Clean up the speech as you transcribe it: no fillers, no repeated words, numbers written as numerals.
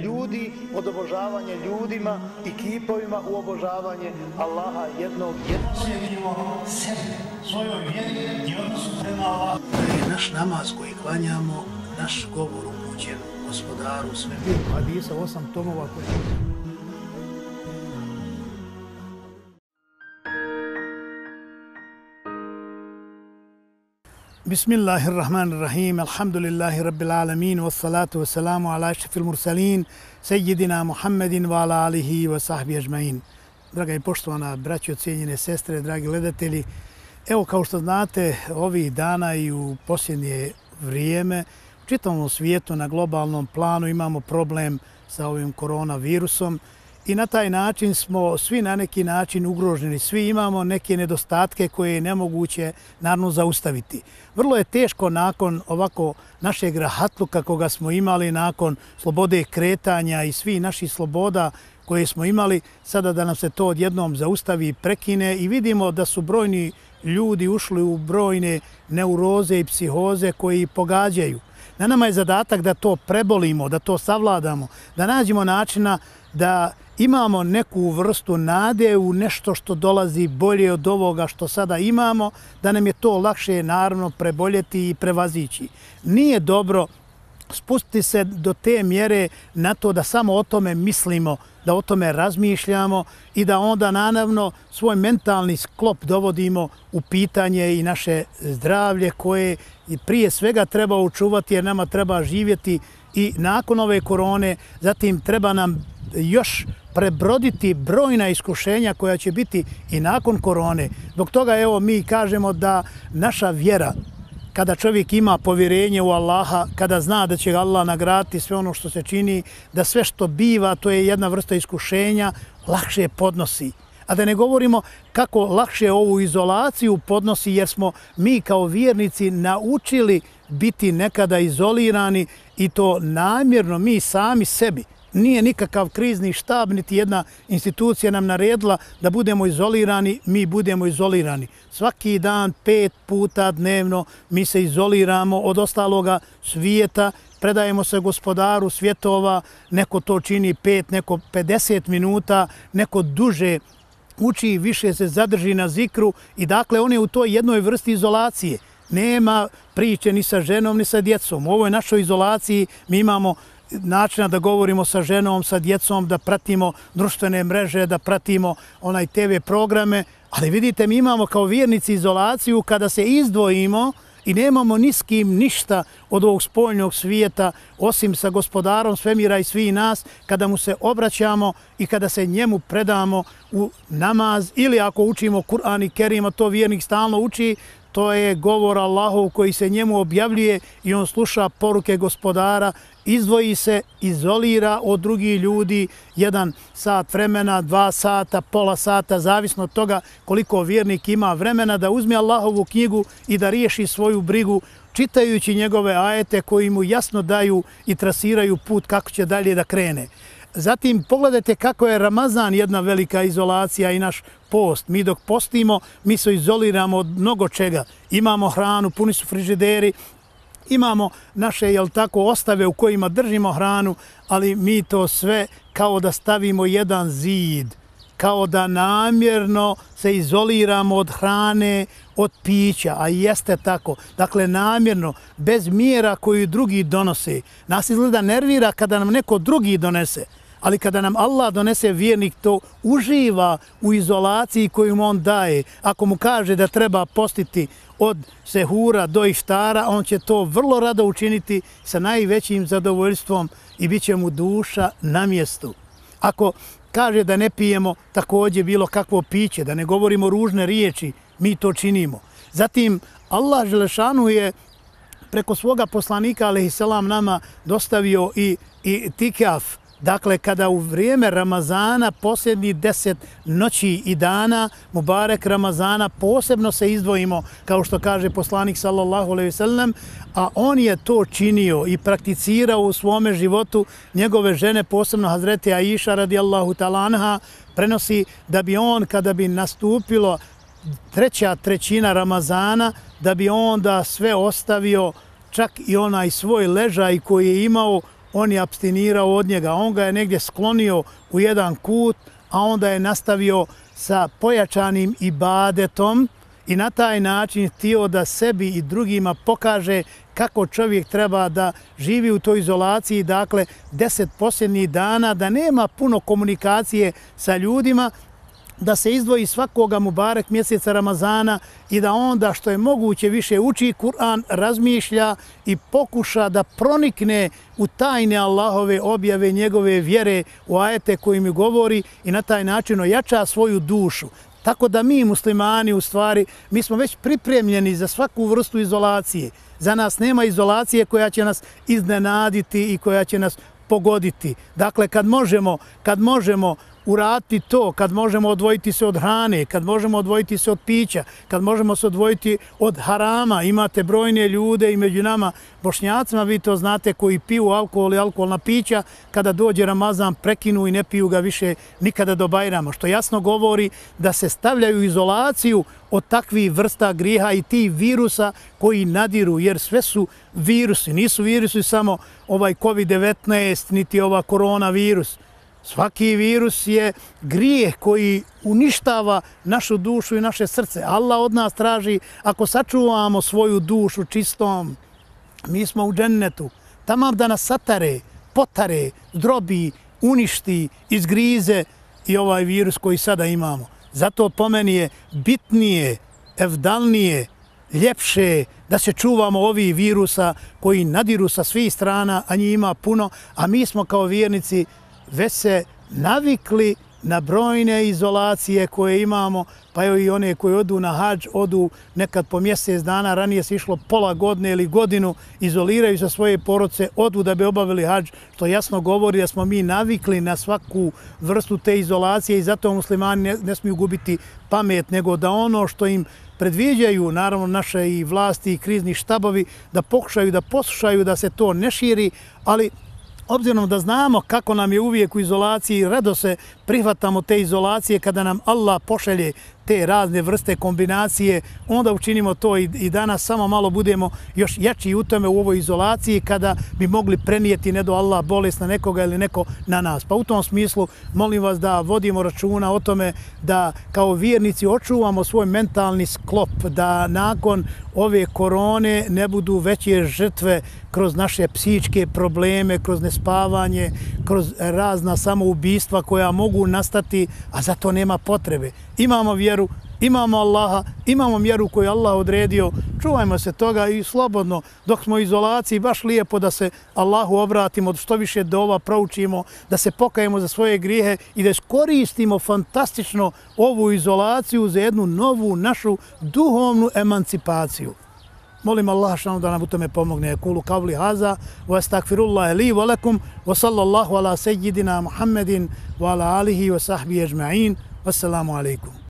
Ljudi od obožavanja ljudima i kipovima u obožavanje Allaha jednog. Osjetimo sebe, svojoj vjeri i odnosu prema Allahu. Naš namaz koji klanjamo, naš govor upućen Gospodaru sve. Hadisa 8 tomova koji... Bismillahirrahmanirrahim, alhamdulillahi rabbil alamin, wassalatu wassalamu ala ašrafil mursalin, sejidina Muhammedin wa ala alihi wa sahbihi ajma'in. Draga i poštovana braćo, cijenjene sestre, dragi gledatelji, evo kao što znate, ovih dana i u posljednje vrijeme u čitavom svijetu na globalnom planu imamo problem sa ovim koronavirusom i na taj način smo svi na neki način ugroženi. Svi imamo neke nedostatke koje je nemoguće naravno zaustaviti. Vrlo je teško nakon ovako našeg rahatluka koga smo imali, nakon slobode kretanja i svih naših sloboda koje smo imali, sada da nam se to odjednom zaustavi i prekine i vidimo da su brojni ljudi ušli u brojne neuroze i psihoze koji pogađaju. Na nama je zadatak da to prebolimo, da to savladamo, da nađemo načina da imamo neku vrstu nade u nešto što dolazi bolje od ovoga što sada imamo, da nam je to lakše naravno preboljeti i prevazići. Nije dobro spustiti se do te mjere na to da samo o tome mislimo, da o tome razmišljamo i da onda naravno svoj mentalni sklop dovodimo u pitanje i naše zdravlje koje prije svega treba očuvati jer nama treba živjeti i nakon ove korone, zatim treba nam još prebroditi brojna iskušenja koja će biti i nakon korone. Zbog toga evo mi kažemo da naša vjera, kada čovjek ima povjerenje u Allaha, kada zna da će ga Allah nagraditi sve ono što se čini, da sve što biva, to je jedna vrsta iskušenja, lakše podnosi. A da ne govorimo kako lakše ovu izolaciju podnosi jer smo mi kao vjernici naučili biti nekada izolirani i to namjerno mi sami sebi. Nije nikakav krizni štab, niti jedna institucija nam naredila da budemo izolirani, mi budemo izolirani. Svaki dan, 5 puta dnevno mi se izoliramo od ostaloga svijeta, predajemo se Gospodaru svjetova, neko to čini 5, neko 50 minuta, neko duže uči, više se zadrži na zikru i dakle on je u toj jednoj vrsti izolacije. Nema priče ni sa ženom ni sa djecom. U ovoj našoj izolaciji mi imamo načina da govorimo sa ženom, sa djecom, da pratimo društvene mreže, da pratimo onaj TV programe, ali vidite mi imamo kao vjernici izolaciju kada se izdvojimo i nemamo ni s kim ništa od ovog spoljnog svijeta osim sa Gospodarom svemira i svih nas, kada mu se obraćamo i kada se njemu predamo u namaz ili ako učimo Kur'an i Kerim, a to vjernik stalno uči, to je govor Allahov koji se njemu objavljuje i on sluša poruke Gospodara, izdvoji se, izolira od drugih ljudi 1 sat vremena, 2 sata, pola sata, zavisno od toga koliko vjernik ima vremena da uzme Allahovu knjigu i da riješi svoju brigu čitajući njegove ajete koji mu jasno daju i trasiraju put kako će dalje da krene. Zatim pogledajte kako je Ramazan jedna velika izolacija i naš post. Mi dok postimo, mi se izoliramo od mnogo čega. Imamo hranu, puni su frižideri, imamo naše ostave u kojima držimo hranu, ali mi to sve kao da stavimo jedan zid, kao da namjerno se izoliramo od hrane, od pića, a jeste tako. Dakle, namjerno, bez mjera koju drugi donose. Nas izgleda nervira kada nam neko drugi donese, ali kada nam Allah donese, vjernik to uživa u izolaciji koju mu on daje. Ako mu kaže da treba postiti od sehura do iftara, on će to vrlo rado učiniti sa najvećim zadovoljstvom i bit će mu duša na mjestu. Ako kaže da ne pijemo također bilo kakvo piće, da ne govorimo ružne riječi, mi to činimo. Zatim, Allah Želešanu je preko svoga poslanika, alejselam, nama dostavio i tikaf. Dakle, kada u vrijeme Ramazana, posljednjih 10 noći i dana, Mubarek Ramazana, posebno se izdvojimo, kao što kaže poslanik sallallahu alejhi ve sellem, a on je to činio i prakticirao u svome životu. Njegove žene, posebno Hazreti Aisha radijallahu ta'ala anha, prenosi da bi on, kada bi nastupilo 1/3 Ramazana, da bi onda sve ostavio, čak i onaj svoj ležaj koji je imao on je apstinirao od njega, on ga je negdje sklonio u jedan kut, a onda je nastavio sa pojačanim ibadetom i na taj način htio da sebi i drugima pokaže kako čovjek treba da živi u toj izolaciji, dakle 10 posljednjih dana, da nema puno komunikacije sa ljudima, da se izdvoji svakoga Mubarek mjeseca Ramazana i da onda što je moguće više uči Kur'an, razmišlja i pokuša da pronikne u tajne Allahove objave, njegove vjere, u ajete koji mi govori i na taj način ojača svoju dušu. Tako da mi muslimani u stvari, mi smo već pripremljeni za svaku vrstu izolacije. Za nas nema izolacije koja će nas iznenaditi i koja će nas pogoditi. Dakle, kad možemo uraditi to, kad možemo odvojiti se od hrane, kad možemo odvojiti se od pića, kad možemo se odvojiti od harama, imate brojne ljude i među nama Bošnjacima, vi to znate, koji piju alkohol i alkoholna pića, kada dođe Ramazan prekinu i ne piju ga više nikada do Bajrama, što jasno govori da se stavljaju u izolaciju od takvih vrsta grijeha i tih virusa koji nadiru, jer sve su virusi, nisu virusi samo ovaj COVID-19, niti ova koronavirus. Svaki virus je grijeh koji uništava našu dušu i naše srce. Allah od nas traži, ako sačuvamo svoju dušu čistom, mi smo u džennetu. Tamam da nas satare, potare, zdrobi, uništi, izgrize i ovaj virus koji sada imamo. Zato po meni je bitnije, evdalnije, ljepše da se čuvamo ovih virusa koji nadiru sa svih strana, a njih ima puno, a mi smo kao vjernici već se navikli na brojne izolacije koje imamo, pa evo i one koji odu na hadž, odu nekad po mjesec dana, ranije se išlo pola godine ili godinu, izoliraju sa svoje porodice, odu da bi obavili hadž, što jasno govori da smo mi navikli na svaku vrstu te izolacije i zato muslimani ne smiju gubiti pamet, nego da ono što im predviđaju, naravno naše i vlasti i krizni štabovi, da pokušaju da poslušaju da se to ne širi, ali obzirom da znamo kako nam je uvijek u izolaciji, rado se prihvatamo te izolacije kada nam Allah pošalje te razne vrste kombinacije, onda učinimo to i danas samo malo budemo još jači u tome u ovoj izolaciji kada bi mogli prenijeti ne do Allah bolest na nekoga ili neko na nas. Pa u tom smislu molim vas da vodimo računa o tome da kao vjernici očuvamo svoj mentalni sklop, da nakon ove korone ne budu veće žrtve kroz naše psihičke probleme, kroz nespavanje, kroz razna samoubistva koja mogu nastati, a za to nema potrebe. Imamo vjeru, imamo Allaha, imamo mjeru koju Allah odredio, čuvajmo se toga i slobodno dok smo u izolaciji, baš lijepo da se Allahu obratimo, što više dova proučimo, da se pokajemo za svoje grijehe i da iskoristimo fantastično ovu izolaciju za jednu novu našu duhovnu emancipaciju. Molim Allah da nam u tome pomogne. Kulu kavli haza, wa astagfirullahi li wa lakum, wa sallallahu ala seyyidina Muhammedin wa ala alihi wa sahbihi ajma'in. Wassalamu alaikum.